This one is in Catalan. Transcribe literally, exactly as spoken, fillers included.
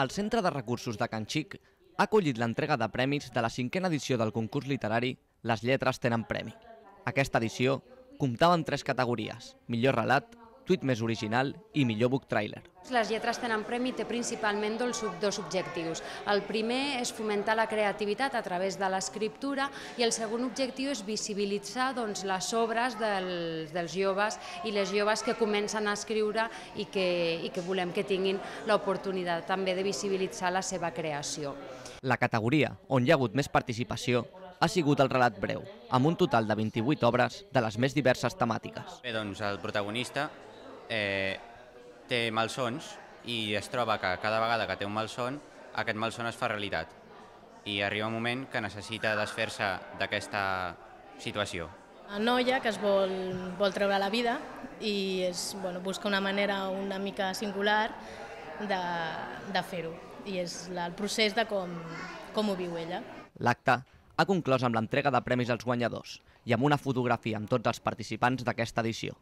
El Centre de Recursos de Can Xic ha acollit l'entrega de premis de la cinquena edició del concurs literari Les lletres tenen premi. Aquesta edició comptava amb tres categories: millor relat, tuit més original i millor book trailer. Les lletres tenen premi té principalment dos objectius. El primer és fomentar la creativitat a través de l'escriptura i el segon objectiu és visibilitzar doncs, les obres dels, dels joves i les joves que comencen a escriure i que, i que volem que tinguin l'oportunitat també de visibilitzar la seva creació. La categoria on hi ha hagut més participació ha sigut el relat breu, amb un total de vint-i-vuit obres de les més diverses temàtiques. Bé, doncs el protagonista eh, té malsons i es troba que cada vegada que té un malson, aquest malson es fa realitat. I arriba un moment que necessita desfer-se d'aquesta situació. Una noia que es vol, vol treure la vida i és, bueno, busca una manera una mica singular de, de fer-ho. I és el procés de com, com ho viu ella. L'acte ha conclòs amb l'entrega de premis als guanyadors i amb una fotografia amb tots els participants d'aquesta edició.